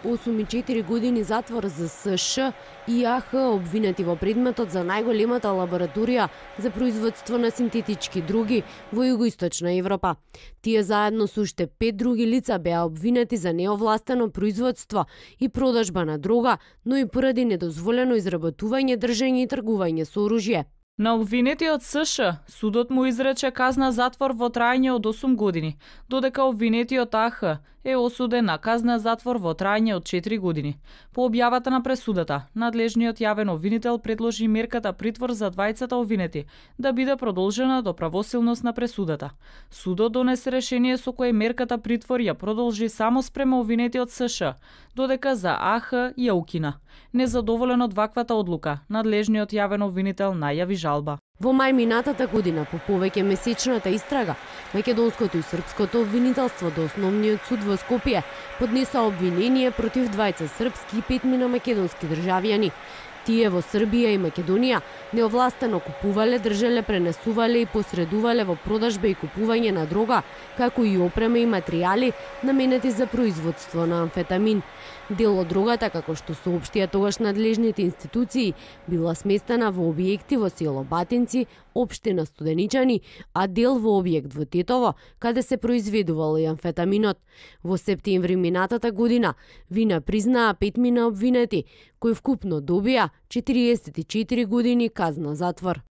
8 и 4 години затвор за СШ и АХ обвинети во предметот за најголемата лабораторија за производство на синтетички други во југоисточна Европа. Тие заедно со уште 5 други лица беа обвинети за неовластено производство и продажба на дрога, но и поради недозволено изработување, држење и тргување со оружје. На обвинетиот СШ судот му изрече казна затвор во трајање од 8 години, додека обвинетиот АХ е осуден на казна затвор во трајање од 4 години. По објавата на пресудата, надлежниот јавен обвинител предложи мерката притвор за двајцата обвинети да биде продолжена до правосилност на пресудата. Судот донесе решение со кое мерката притвор ја продолжи само спрема обвинетиот СШ, додека за АХ ја укина. Незадоволен од ваквата одлука, надлежниот јавен обвинител најави жалба. Во мај минатата година, по повеќе месечната истрага, македонското и српското обвинителство до Основниот суд во Скопје поднеса обвинение против двајца српски и 5 македонски државјани. Тие во Србија и Македонија неовластено купувале, држеле, пренесувале и посредувале во продажба и купување на дрога, како и опрема и материјали наменети за производство на амфетамин. Дел од дрогата, како што соопштија тогаш надлежните институции, била сместена во објекти во село Батинци, општина Студеничани, а дел во објект во Тетово, каде се произведувал и амфетаминот. Во септември минатата година вина признаа 5 обвинети, кои вкупно добија 44 години казна затвор.